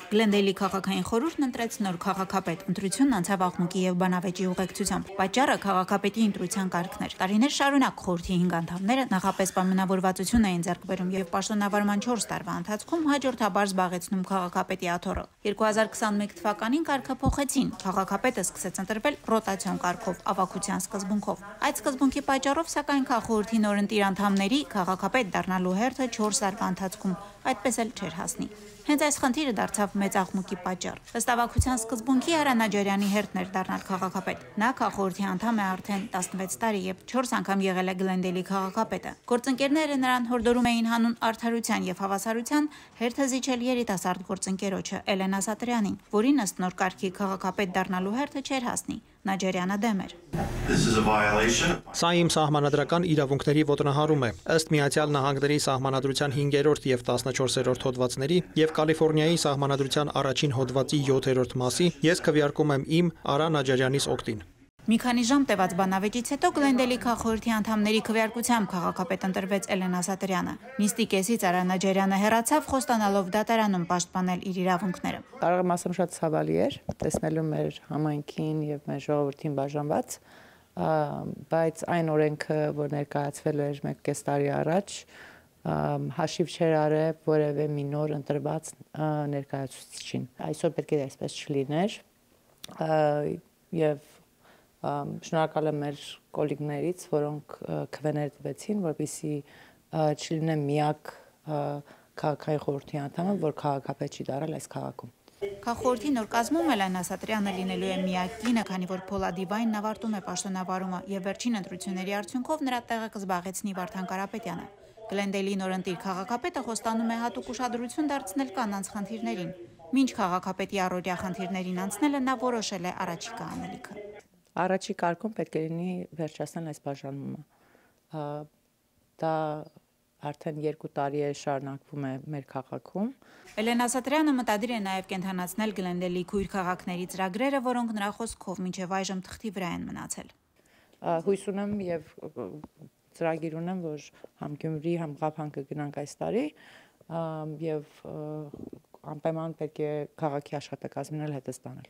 Գլենդեյլի քաղաքային խորհուրդն ընտրեց նոր քաղաքապետ, ընտրությունն անցավ աղմուկի եւ բանավեճի ուղեկցությամբ։ Պատճառը քաղաքապետի ընտրության կարգն էր։ Տարիներ շարունակ խորհրդի 5 անդամները նախապես պայմանավորվածություն էին ձեռք բերում եւ պաշտոնավարման 4 տարվա ընթացքում հաջորդաբար զբաղեցնում քաղաքապետի աթոռը։ 2021 թվականին կարգը փոխեցին։ Քաղաքապետը սկսեց ընտրվել ռոտացիոն կարգով, ավագության սկզբունքով։ Այդ սկզբունքի պատճառով սակայն քաղաքորդի նորընտիր անդամների քաղաքապետ դառնալու հերթը 4 տարվա ընթացքում այդպես էլ չէր հասնի։ Հենց այս խնդիրը դարձավ մեծ աղմուկի պատճառ։ Ըստ ավագության սկզբունքի Արա Նաջարյանի հերթն էր դառնալ քաղաքապետ։ Նա քաղաքորդի անդամ է արդեն 16 տարի եւ 4 անգամ եղել է Գլենդեյլի քաղաքապետը։ Գործընկերները նրան հորդորում էին հանուն արդարության եւ հավասարության հերթը զիջել երիտասարդ գործընկերոջը Էլենա Սատրյանին, որին ըստ նոր կարգի քաղաքապետ դառնալու հերթը չէր հասնի։ Նաջարյանը դեմ էր։ Սա իմ սահմանադրական իրավունքների ոտնահարում է։ Ըստ Միացյալ Նահանգների սահմանադրության 5-րդ եւ 14-րդ հոդվածների եւ Կալիֆոռնիայի սահմանադրության առաջին հոդվածի 7-րդ մասի ես քվեարկում եմ իմ Արա Նաջարյանիս օգտին։ Մի քանի ժամ տևած բանավեճից հետո Գլենդեյլի քաղաքորդի անդամների քվեարկությամբ քաղաքապետ ընտրվեց Էլենա Սատրյանը։ Նիստի կեսից Արա Նաջարյանը հեռացավ, խոստանալով դատարանում պաշտպանել իր իրավունքները։ Կարող եմ ասեմ շատ ցավալի էր տեսնելու մեր համայնքին եւ մեր ժողովրդին բաժանված, բայց այն օրենքը, որ ներկայացվել էր 1.5 տարի առաջ, հաշիվ չէր արել որևէ մի նոր ընտրված ներկայացուցիչին։ Այսօր պետք է այսպես չլիներ եւ շնորհակալ եմ մեր կոլեգներից, որոնք քվեներ տվեցին, որպեսզի չլինեմ միակ քաղաքային խորհրդի անդամը, որ քաղաքապետ չի դառել այս քաղաքում։ Քաղաքորդի նոր կազմում Էլենա Սատրյանը լինելու է միակ կինը, քանի որ Փոլադիվայնն ավարտում է պաշտոնավարումը եւ վերջին ընտրությունների արդյունքով նրա տեղը կզբաղեցնի Վարդան Կարապետյանը։ Գլենդեյլի նորընտիր քաղաքապետը խոստանում է հատուկ ուշադրություն դարձնել կանանց խնդիրներին։ Մինչ քաղաքապետի առօրյա խնդիրներին անցնելը նա որոշել է առաջիկա անելիքը։ Առաջի կարգում պետք է լինի վերջացնել այս բաժանումը։ Դա արդեն 2 տարի է շարունակվում է մեր քաղաքում։ Էլենա Սատրյանը մտադիր է նաև կենթանացնել Գլենդեյլի քույր քաղաքների ծրագրերը, որոնք նրա խոսքով մինչև այժմ թղթի վրա են մնացել։ Հույս ունեմ եւ ծրագիր ունեմ, որ համ Գյումրի, համ Ղափան կգնանք այս տարի եւ անպայման պետք է քաղաքի աշխատակազմին հետը ստանել։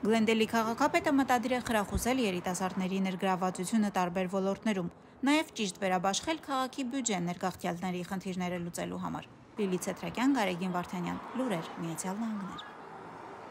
Գլենդեյլի քաղաքապետը մտադիր է խրախուսել երիտասարդների ներգրավվածությունը տարբեր ոլորտներում, նաև ճիշտ վերաբաշխել քաղաքի բյուջեն ներգաղթյալների խնդիրները լուծելու համար։ Լիլիթ Սեթրակյան, Գարեգին Վարդանյան, Լուրեր, Միացյալ Նահանգներ։